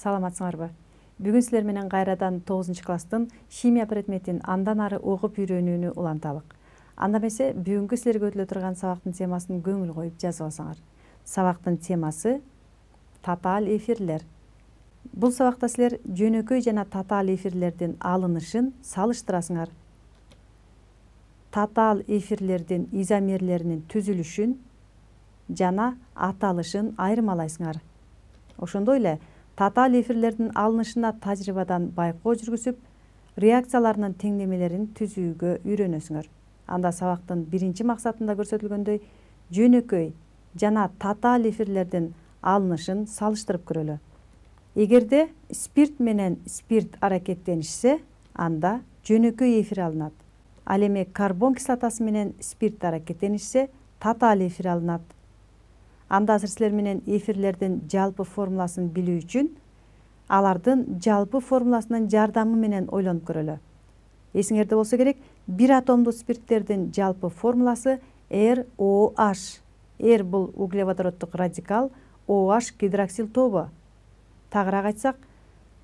саламатсыңарбы? Бүгүн силер менен кайрадан 9-класстын химия предметин андан ары окуп үйрөнүүнү уланталык. Анда эмесе бүгүнкү силерге өтүлө турган сабактын темасын көңүл коюп жазып алсаңар. Сабактын темасы татаал эфирлер. Бул сабакта силер жөнөкөй жана татаал эфирлердин алынышын салыштырасыңар. Татаал эфирлердин изомерлеринин түзүлүшүн жана аталышын айырмалайсыңар. Ошондой эле татаал эфирлердин алынышына тажрыйбадан байкоо жүргүзүп, реакцияларынын теңдемелерин түзүүгө үйрөнөсүңөр. Анда сабактын биринчи максатында көрсөтүлгөндөй жөнөкөй жана татаал эфирлердин алынышын салыштырып көрөлү. Эгерде спирт менен спирт аракеттенишсе, анда жөнөкөй эфир алынат. Ал эми карбон кислотасы менен спирт аракеттенишсе, татаал эфир алынат. Анда азыр силер менен эфирлердин жалпы формуласын билүү үчүн алардын жалпы формуласынын жардамы менен ойлонуп көрөлү. Эсиңерде болсо керек, бир атомдуу спирттердин жалпы формуласы ROH. R бул углеводороддук радикал, OH гидроксил тобу. Тагыраак айтсак,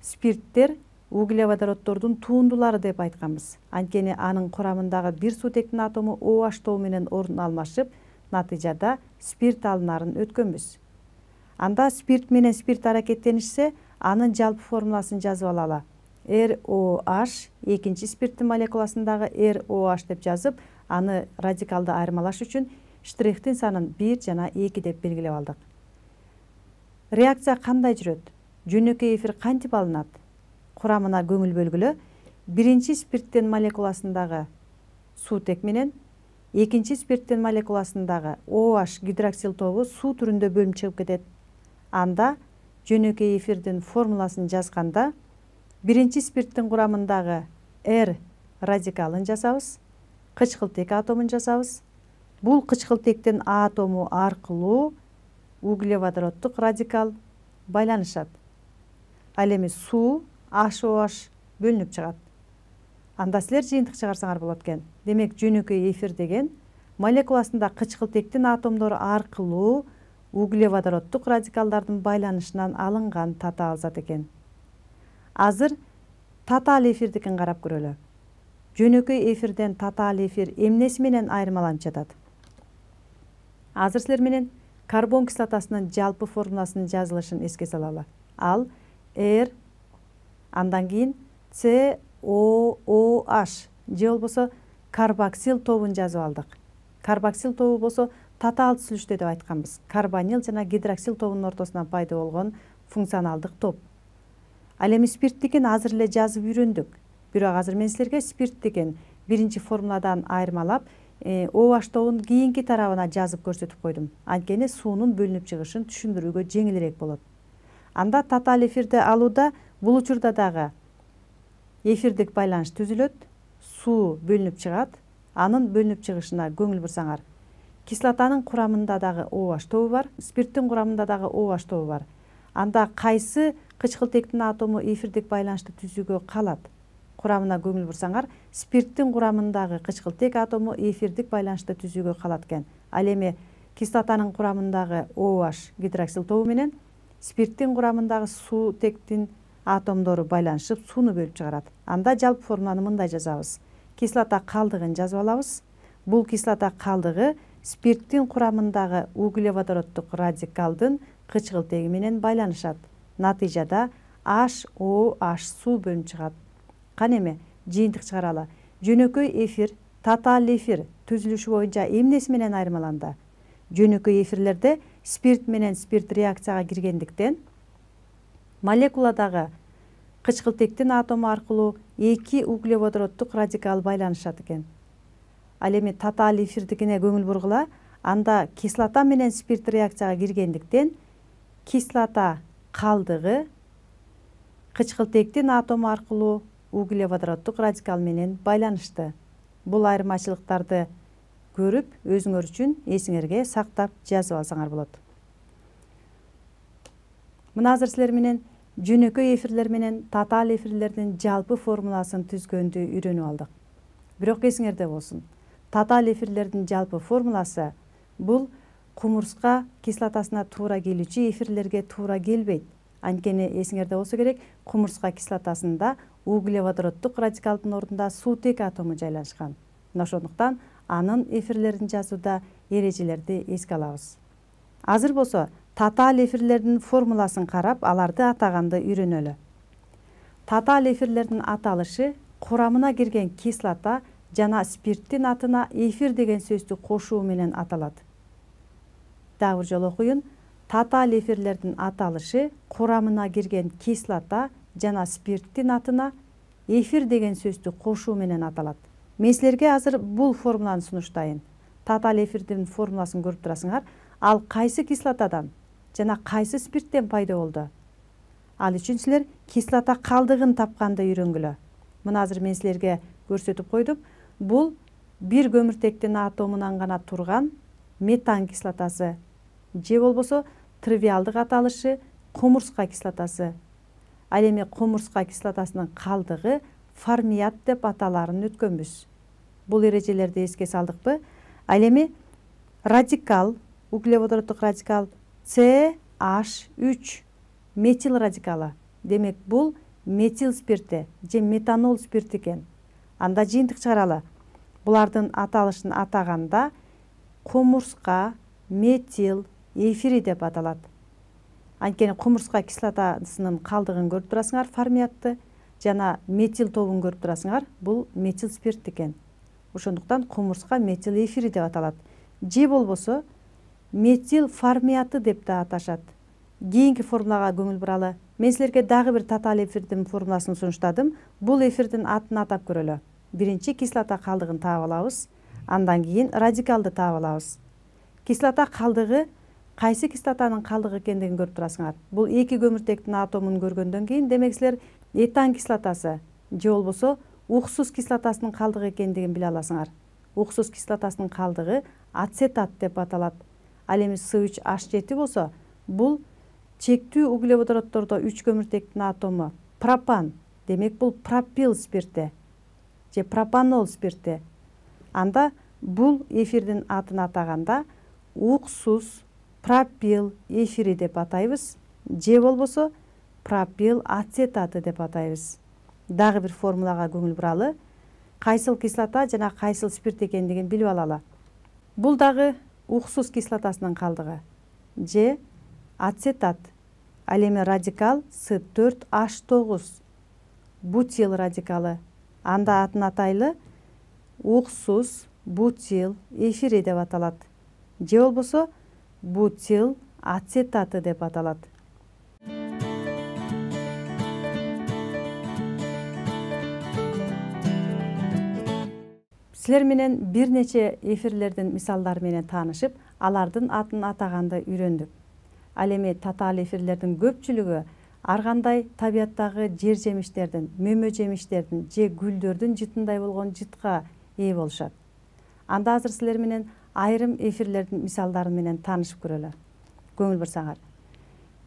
спирттер углеводороддордун туундулары деп айтканбыз. Анткени анын курамындагы бир суутектин атому OH тобу менен ордун алмашып, натыйжада спирт алынарын өткөнбүз. Анда спирт менен спирт аракеттенишсе, анын жалпы формуласын жазып алалы. ROH экинчи спирттин молекуласындагы ROH деп жазып, аны радикалды айырмалаш үчүн штрихтин санын 1 жана 2 деп белгилеп алдык. Реакция кандай жүрөт? Жөнөкөй эфир кантип алынат? Курамына көңүл бөлгүлө. Биринчи спирттин молекуласындагы суутек менен экинчи спирттин молекуласындагы OH гидроксил тобу суу түрүндө бөлүнүп чыгып кетет. Анда жөнөкөй эфирдин формуласын жазганда биринчи спирттин курамындагы R радикалын жазабыз, кычкылтек атомун жазабыз. Бул кычкылтектин атому аркылуу углеводороддук радикал байланышат. Ал эми суу HOH бөлүнүп чыгат. Анда силер жыйынтык чыгарсаңар болот экен. Демек жөнөкөй эфир деген молекуласында кычкылтектин атомдору аркылуу углеводороддук радикалдардын байланышынан алынган татаал зат экен. Азыр татаал эфирдикин карап көрөлү. Жөнөкөй эфирден татаал эфир эмнеси менен айырмаланып жатат? Азыр силер менен карбон кислотасынын жалпы формуласынын жазылышын эске салалы. Ал R, андан кийин COOH же болбосо карбоксил тобун жазып алдык. Карбоксил тобу болсо татаал түзүлүштө деп айтканбыз. Карбонил жана гидроксил тобунун ортосунан пайда болгон функционалдык топ. Ал эми спирттикин азыр эле жазып үйрөндүк. Бирок азыр мен силерге спирт деген биринчи формуладан айырмалап, OH тобунун кийинки тарабына жазып көрсөтүп койдум. Анткени суунун бөлүнүп чыгышын түшүндүрүүгө жеңилирээк болот. Анда татаал эфирди алууда бул учурда дагы эфирдик байланыш түзүлөт, суу бөлүнүп чыгат. Анын бөлүнүп чыгышына көңүл бурсаңар, кислотанын курамында дагы OH тобу бар, спирттин курамында дагы OH тобу бар. Анда кайсы кычкылтектин атому эфирдик байланышты түзүүгө калат? Курамына көңүл бурсаңар, спирттин курамындагы кычкылтек атому эфирдик байланышты түзүүгө калат экен. Ал эми кислотанын курамындагы OH гидроксил тобу менен спирттин курамындагы суутектин атомдору байланышып сууну бөлүп чыгарат. Анда жалпы формуланы мындай жазабыз. Кислота калдыгын жазып алабыз. Бул кислота калдыгы спирттин курамындагы углеводороддук радикалдын кычкылтеги менен байланышат. Натыйжада HOH суу бөлүнүп чыгат. Кана эми жыйынтык чыгаралы. Жөнөкөй эфир, татаал эфир түзүлүшү боюнча эмнеси менен айырмаланды? Жөнөкөй эфирлерде спирт менен спирт реакцияга киргендиктен молекуладагы кычкылтектин атому аркылуу эки углеводороддук радикал байланышат экен. Ал эми татаал эфирдикине көңүл бургула. Анда кислота менен спирт реакцияга киргендиктен кислота калдыгы кычкылтектин атому аркылуу углеводороддук радикал менен байланышты. Бул айырмачылыктарды көрүп, өзүңөр үчүн эсиңерге сактап жазып алсаңар болот. Мына азыр силер менен жөнөкөй эфирлер менен татаал эфирлердин жалпы формуласын түзгөндү үйрөнүп алдык. Бирок эсиңерде болсун, татаал эфирлердин жалпы формуласы бул кумурска кислотасына туура келүүчү эфирлерге туура келбейт. Анткени эсиңерде болсо керек, кумурска кислотасында углеводороддук радикалдын ордунда суутек атому жайлашкан. Мына ошондуктан анын эфирлерин жазууда эрежелерди эске алабыз. Азыр болсо татаал эфирлердин формуласын карап, аларды атаганды үйрөнөлү. Татаал эфирлердин аталышы курамына кирген кислота жана спирттин атына эфир деген сөздү кошуу менен аталат. Дагы бир жолу окуйун. Татаал эфирлердин аталышы курамына кирген кислота жана спирттин атына эфир деген сөздү кошуу менен аталат. Мен силерге азыр бул формуланы сунуштайын. Татаал эфирдин формуласын көрүп турасыңар. Ал кайсы кислотадан жана кайсы спирттен пайда болду? Ал үчүн силер кислота калдыгын тапканды үйрөнгүлө. Мына азыр мен силерге көрсөтүп койдум. Бул бир көмүртектин атомунан гана турган метан кислотасы же болбосо тривиалдык аталышы кумурска кислотасы. Ал эми кумурска кислотасынын калдыгы формият деп аталарын өткөнбүз. Бул эрежелерди эске салдыкпы? Ал эми радикал, углеводороддук радикал CH3 метил радикалы. Демек бул метил спирти же метанол спирти экен. Анда жыйынтык чыгаралы. Булардын аталышын атаганда кумурска метил эфири деп аталат. Анткени кумурска кислотасынын калдыгын көрүп турасыңар, формиятты, жана метил тобун көрүп турасыңар, бул метил спирт экен. Ошондуктан кумурска метил эфири деп аталат. Же болбосо метил формиаты деп да аташат. Кийинки формулага көңүл буралы. Мен силерге дагы бир татаал эфирдин формуласын сунуштадым. Бул эфирдин атын атап көрөлү. Биринчи кислота калдыгын таап алабыз, андан кийин радикалды таап алабыз. Кислота калдыгы кайсы кислотанын калдыгы экендигин көрүп турасыңар. Бул эки көмүртектин атомун көргөндөн кийин демек силер этан кислотасы же болбосо уксус кислотасынын калдыгы экендигин биле аласыңар. Уксус кислотасынын калдыгы ацетат деп аталат. Ал эми С3H7 болсо, бул чектүү углеводороддордо 3 көмүртектин атому пропан. Демек бул пропил спирти же пропанол спирти. Анда бул эфирдин атын атаганда уксус пропил эфири деп атайбыз, же болбосо пропил ацетаты деп атайбыз. Дагы бир формулага көңүл буралы. Кайсыл кислота жана кайсыл спирт экендигин билип алалы. Бул дагы уксус кислотасынын калдыгы же ацетат. Ал эми радикал С4H9 бутил радикалы. Анда атын атайлы уксус бутил эфири деп аталат. Же болбосо бутил ацетаты деп аталат. Силер менен бир нече эфирлердин мисалдары менен таанышып, алардын атын атаганды үйрөндүк. Ал эми татаал эфирлердин көпчүлүгү ар кандай табияттагы жер жемиштердин, мөмө жемиштердин же гүлдөрдүн жытындай болгон жытка ээ болушат. Анда азыр силер менен айрым эфирлердин мисалдары менен таанышып көрөлү. Көңүл бурсаңар.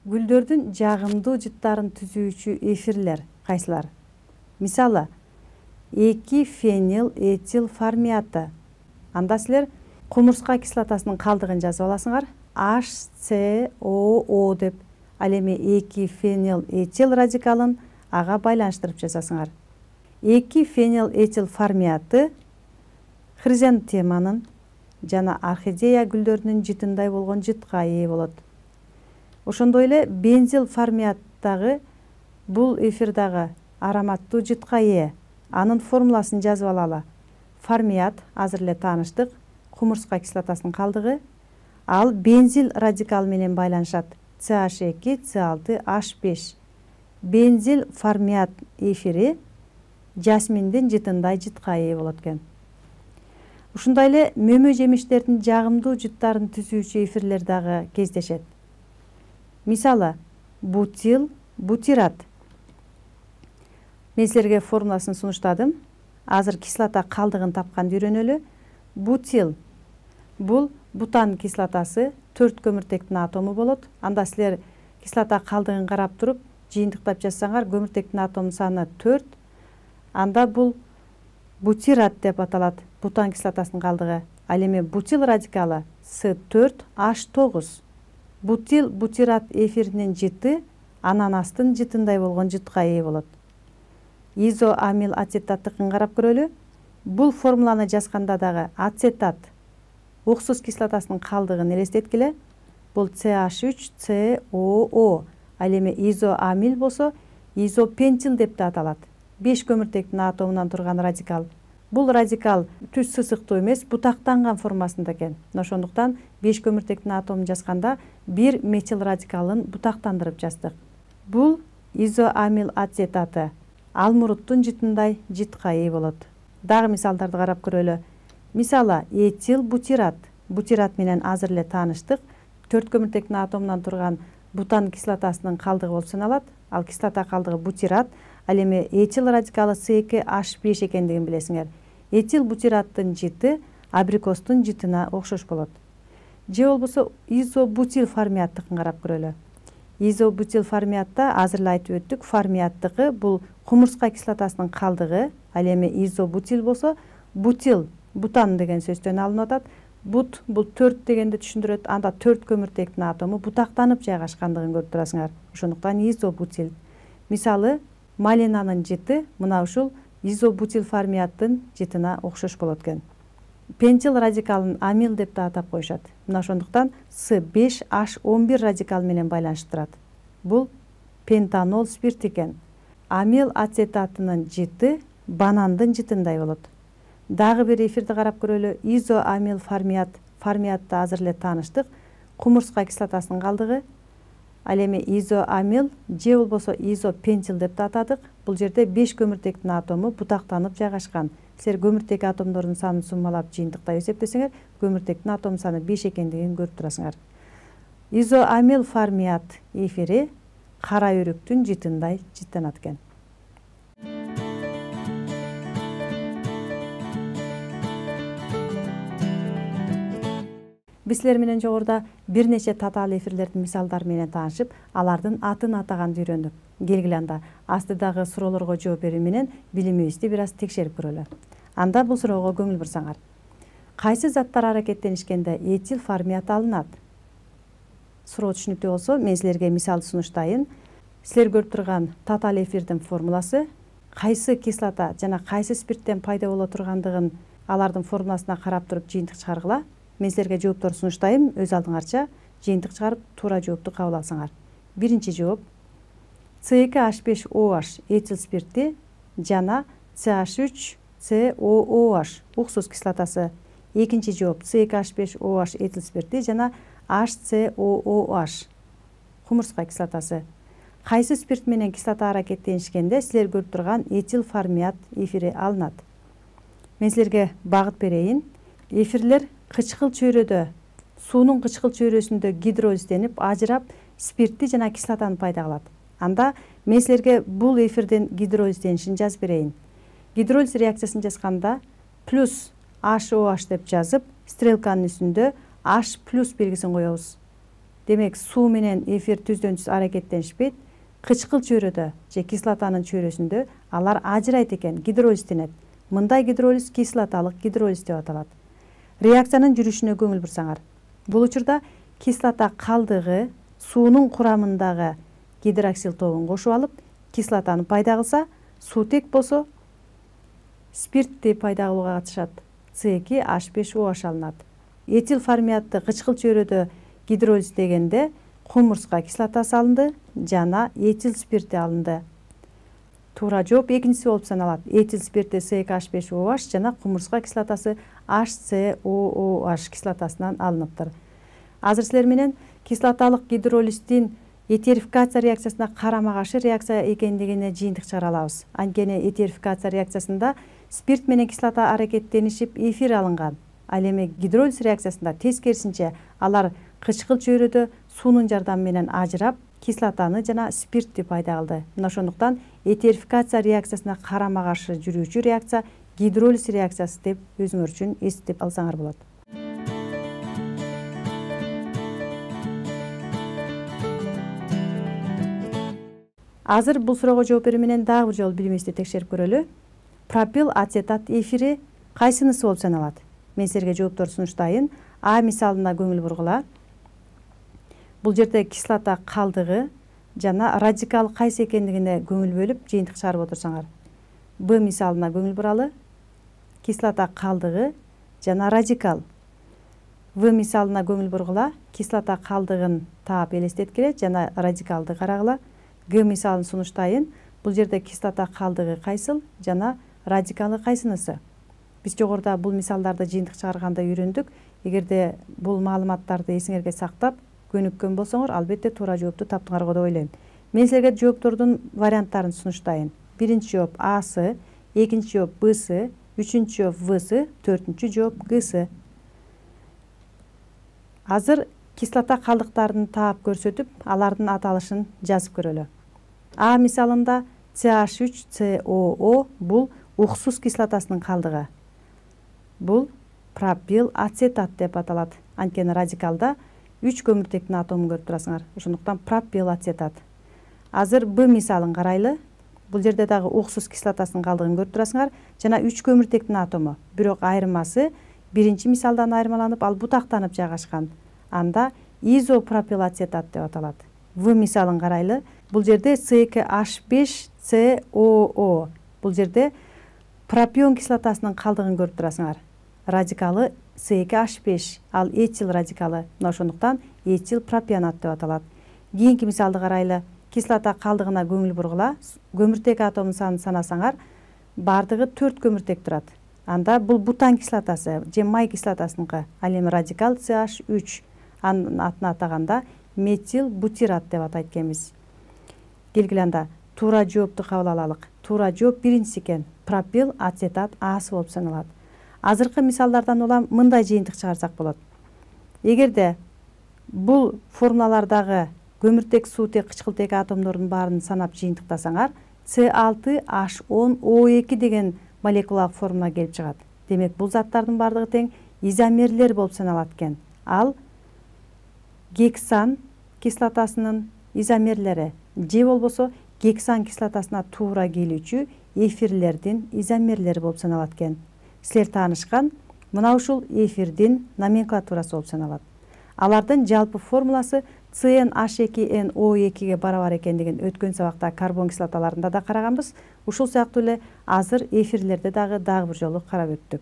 Гүлдөрдүн жагымдуу жыттарын түзүүчү эфирлер кайсылар? Мисалы, 2 фенил этил формиаты. Анда силер кумурска кислотасынын калдыгын жазып аласыңар. HCOO деп. Ал эми 2 фенил этил радикалын ага байланыштырып жазасыңар. 2 фенил этил формиаты хризантеманын жана орхидея гүлдөрүнүн жытындай болгон жытка ээ болот. Ошондой эле бензил формиаттагы бул эфир дагы ароматтуу жытка ээ. Анын формуласын жазып алалы. Формият азыр эле тааныштык, кумурска кислотасынын калдыгы. Ал бензил радикал менен байланышат. CH2, C6, H5. Бензил формият эфири жасминдин жытындай жытка ээ болот экен. Ушундай эле мөмө жемиштердин жагымдуу жыттарын түзүүчү эфирлер дагы кездешет. Мисалы, бутил, бутират. Мен силерге формуласын сунуштадым. Азыр кислота калдыгын тапканды үйрөнөлү. Бутил. Бул бутан кислотасы 4 көмүртектин атому болот. Анда силер кислота калдыгын карап туруп, жыйынтыктап жазсаңар, көмүртектин атом саны 4. Анда бул бутират деп аталат. Бутан кислотасынын калдыгы. Ал эми бутил радикалы С4H9. Бутил бутират эфиринин жыты ананастын жытындай болгон жытка ээ болот. Изоамил ацетаттыкын карап көрөлү. Бул формуланы жазганда дагы ацетат уксус кислотасынын калдыгын элестеткиле. Бул CH3COO. Ал эми изоамил болсо изопентил деп да аталат. 5 көмүртектин атомунан турган радикал. Бул радикал түз сысыктуу эмес, бутактанган формасында экен. Ошондуктан 5 көмүртектин атомун жазганда бир метил радикалын бутактандырып жаздык. Бул изоамил ацетаты алмуруттун жытындай жытка ээ болот. Дагы мисалдарды карап көрөлү. Мисалы, этил бутират. Бутират менен азыр эле тааныштык. 4 көмүртектин атомунан турган бутан кислотасынын калдыгы болуп саналат. Ал кислота калдыгы бутират. Ал эми этил радикалы C2H5 экендигин билесиңер. Этил бутираттын жыты абрикостун жытына окшош болот. Же болбосо изобутил формияттыкын карап көрөлү. Изобутил формиятта азыр эле айтып өттүк, формияттыкы бул кумурска кислотасынын калдыгы. Ал эми изобутил болсо, бутил бутан деген сөздөн алынып атат. Бут бул 4 дегенди түшүндүрөт. Анда 4 көмүртектин атому бутактанып жайгашкандыгын көрүп турасыңар. Ошондуктан изобутил. Мисалы, малинанын жыты мына ушул изобутил формияттын жытына окшош болот экен. Пентил радикалын амил деп да атап коюшат. Мына ошондуктан С5H11 радикал менен байланыштырат. Бул пентанол спирт экен. Амил ацетатынын жыты банандын жытындай болот. Дагы бир эфирди карап көрөлү. Изоамил формиятта азыр эле тааныштык. Кумурска кислотасынын калдыгы. Ал эми изоамил же болбосо изопентил деп да атадык. Бул жерде 5 көмүртектин атому бутактанып жайгашкан. Силер көмүртек атомдордун санын суммалап жыйынтыктап эсептесеңер, көмүртектин атом саны 5 экендигин көрүп турасыңар. Изоамил формият эфири кара өрүктүн жытындай жыттанат экен. Биз силер менен жогоруда бир нече татаал эфирлердин мисалдары менен таанышып, алардын атын атаганды үйрөндүк. Келгиле анда астыдагы суроолорго жооп берүү менен билимибизди бир аз текшерип көрөлү. Анда бул суроого көңүл бурсаңар. Кайсы заттар аракеттенишкенде этил формият алынат? Суроо түшүнүктүү болсо, мен силерге мисал сунуштайын. Силер көрүп турган татаал эфирдин формуласы кайсы кислота жана кайсы спирттен пайда боло тургандыгын алардын формуласына карап туруп жыйынтык чыгаргыла. Мен силерге жооптор сунуштайм, өз алдыңарча жыйынтык чыгарып туура жоопту кабыл алсаңар. Биринчи жооп C2H5OH этил спирти жана CH3COOH уксус кислотасы. Экинчи жооп C2H5OH этил спирти жана HCOOH кумурска кислотасы. Кайсы спирт менен кислота аракеттенишкенде силер көрүп турган этил формият эфири алынат? Мен силерге багыт берейин. Эфирлер кычкыл чөйрөдө, суунун кычкыл чөйрөсүндө гидролизденип, ажырап, спиртти жана кислотаны пайда кылат. Анда мен силерге бул эфирдин гидролизденишин жазып берейин. Гидролиз реакциясын жазганда плюс HOH деп жазып, стрелканын үстүндө H плюс белгисин коебуз. Демек, суу менен эфир түздөн түз аракеттенишпейт. Кычкыл чөйрөдө же кислотанын чөйрөсүндө алар ажырайт экен, гидролизденет. Мындай гидролиз кислоталык гидролиз деп аталат. Реакциянын жүрүшүнө көңүл бурсаңар. Бул учурда кислота калдыгы суунун курамындагы гидроксил тобун кошуп алып, кислотаны пайда кылса, суутек болсо спиртти пайда кылууга катышат. C2H5OH алынат. Этил формиятты кычкыл чөйрөдө гидролиздегенде кумурска кислотасы алынды жана этил спирти алынды. Туура жооп экинчиси болуп саналат. Этил спирти C2H5OH жана кумурска кислотасы HCOOH кислотасынан алыныптыр. Азыр силер менен кислоталык гидролиздин этерификация реакциясына карама-каршы реакция экендигине жыйынтык чыгара алабыз. Анткени этерификация реакциясында спирт менен кислота аракеттенишип эфир алынган. Ал эми гидролиз реакциясында тескерисинче алар кычкыл чөйрөдө суунун жардамы менен ажырап, кислотаны жана спиртти пайда кылды. Мына ошондуктан этерификация реакциясына карама-каршы жүрүүчү реакция гидролиз реакциясы деп өзүңөр үчүн эстеп алсаңар болот. Азыр бул суроого жооп берүү менен дагы бир жолу билимибизди текшерип көрөлү. Пропил ацетат эфири кайсынысы болуп саналат? Мен силерге жооптор сунуштайын. А мисалына көңүл бургула. Бул жерде кислота калдыгы жана радикал кайсы экендигине көңүл бөлүп жыйынтык чыгарып отурсаңар. Б мисалына көңүл буралы. Кислота калдыгы жана радикал. В мисалына көңүл бургула. Кислота калдыгын таап элестеткиле жана радикалды карагыла. Г мисалын сунуштайын. Бул жерде кислота калдыгы кайсыл жана радикалы кайсынысы? Биз жогоруда бул мисалдарды жыйынтык чыгарганда үйрөндүк. Эгерде бул маалыматтарды эсиңерге сактап көнүккөн болсоңор, албетте туура жоопту таптыңар деп ойлойм. Мен силерге жооптордун варианттарын сунуштайын. Биринчи жооп Асы, экинчи жооп Бсы, үчүнчү жооп Всы, төртүнчү жооп Гсы. Азыр кислота калдыктарын таап көрсөтүп, алардын аталышын жазып көрөлү. А мисалында CH3COO бул уксус кислотасынын калдыгы. Бул пропил ацетат деп аталат. Анткени радикалда 3 көмүртектин атомун көрүп турасыңар. Ошондуктан пропил ацетат. Азыр Б мисалын карайлы. Бул жерде дагы уксус кислотасынын калдыгын көрүп турасыңар жана 3 көмүртектин атому. Бирок айырмасы биринчи мисалдан айырмаланып, ал бутактанып жайгашкан. Анда изопропил ацетат деп аталат. В мисалын карайлы. Бул жерде C2H5COO. Бул жерде пропион кислотасынын калдыгын көрүп турасыңар. Радикалы C2H5, ал этил радикалы. Мына ошондуктан этил пропионат деп аталат. Кийинки мисалды карайлы. Кислота калдыгына көңүл бургула. Көмүртек атомунун санын санасаңар, бардыгы 4 көмүртек турат. Анда бул бутан кислотасы, же май кислотасыныкы. Ал эми радикал CH3. Анын атын атаганда метил бутират деп атайт экенбиз. Келгиле анда туура жоопту кабыл алалык. Туура жооп биринчиси экен. Пропил ацетат Асы болуп саналат. Азыркы мисалдардан улам мындай жыйынтык чыгарсак болот. Эгерде бул формулалардагы көмүртек, суутек, кычкылтек атомдордун баарын санап жыйынтыктасаңар, C6H10O2 деген молекулалык формула келип чыгат. Демек, бул заттардын бардыгы тең изомерлер болуп саналат экен. Ал гексан кислотасынын изомерлери же болбосо гексан кислотасына туура келүүчү эфирлердин изомерлери болуп саналат экен. Силер таанышкан мына ушул эфирдин номенклатурасы болуп саналат. Алардын жалпы формуласы CnH2NO2ге барабар экендигин өткөн сабакта карбон кислоталарында да караганбыз. Ушул сыяктуу эле азыр эфирлерде дагы бир жолу карап өттүк.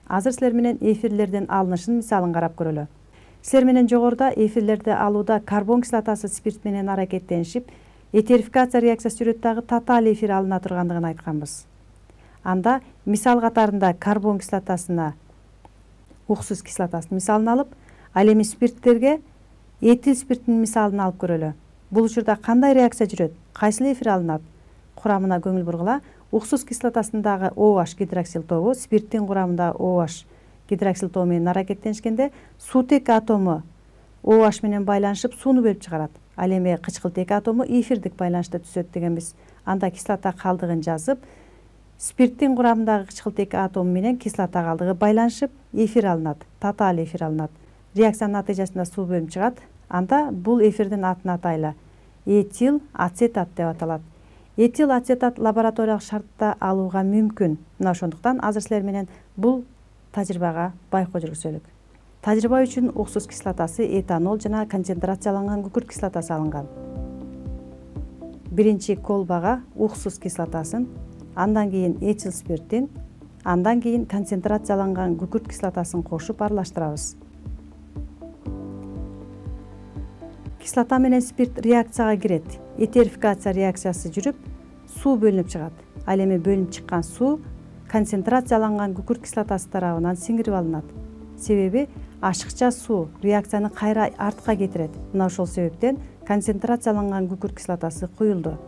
Азыр силер менен эфирлердин алынышын мисалын карап көрөлү. Силер менен жогоруда эфирлерди алууда карбон кислотасы спирт менен аракеттенишип, этерификация реакциясы жүрөт дагы татаал эфир алына тургандыгын айтканбыз. Анда мисал катарында карбон кислотасына уксус кислотасынын мисалын алып, ал эми спирттерге этил спирттин мисалын алып көрөлү. Бул учурда кандай реакция жүрөт? Кайсыл эфир алынат? Курамына көңүл бургула. Уксус кислотасындагы OH гидроксил тобу спирттин курамында OH гидроксил тобу менен аракеттенишкенде суутек атому OH менен байланышып сууну бөлүп чыгарат. Ал эми кычкылтек атому эфирдик байланышта түзөт дегенбиз. Анда кислота калдыгын жазып, спирттин курамындагы кычкылтек атому менен кислота калдыгы байланышып эфир алынат, татаал эфир алынат. Реакциянын натыйжасында суу бөлүнүп чыгат. Анда бул эфирдин атын атайлы. Этил ацетат деп аталат. Этил ацетат лабораториялык шартта алууга мүмкүн. Мына ошондуктан азыр силер менен бул тажрыйбага байкоо жүргүзөлүк. Тажрыйба үчүн уксус кислотасы, этанол жана концентрацияланган күкүрт кислотасы алынган. Биринчи колбага уксус кислотасын, андан кийин этил спиртин, андан кийин концентрацияланган күкүрт кислотасын кошуп аралаштырабыз. Кислота менен спирт реакцияга кирет. Этерификация реакциясы жүрүп, суу бөлүнүп чыгат. Ал эми бөлүнүп чыккан суу концентрацияланган күкүрт кислотасы тарабынан сиңирип алынат. Себеби ашыкча суу реакцияны кайра артка кетирет. Мына ошол себептен концентрацияланган күкүрт кислотасы куюлду.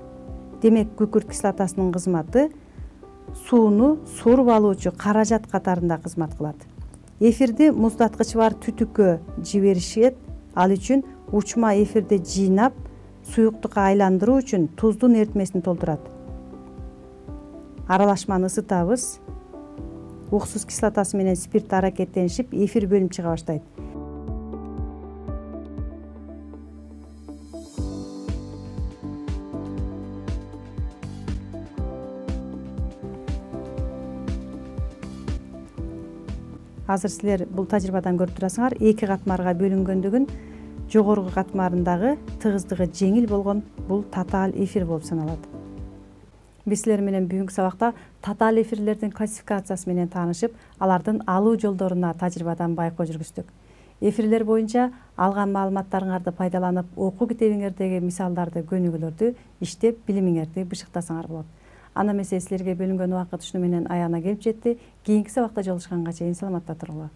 Демек, күкүрт кислотасынын кызматы сууну соруп алуучу каражат катарында кызмат кылат. Эфирди муздаткычы бар түтүккө жиберишет. Ал үчүн учма эфирди жыйнап, суюктукка айландыруу үчүн туздун эритмесин толтурат. Аралашманы ысытабыз. Уксус кислотасы менен спирт аракеттенишип, эфир бөлүнүп чыга баштайт. Азыр силер бул тажрыйбадан көрүп турасыңар, эки катмарга бөлүнгөндүгүн. жогорку катмарындагы тыгыздыгы жеңил болгон бул татаал эфир болуп саналат. Биз силер менен бүгүнкү сабакта татаал эфирлердин классификациясы менен таанышып, алардын алуу жолдоруна тажрыйбадан байкоо жүргүздүк. Эфирлер боюнча алган маалыматтарыңарды пайдаланып, окуу китебиңердеги мисалдарды, көнүгүүлөрдү иштеп, билимиңерди бышыктасаңар болот. Анда эмесе силерге бөлүнгөн убакыт ушуну менен аягына келип жетти. Кийинки сабакта жолугушканга чейин саламатта туруңар.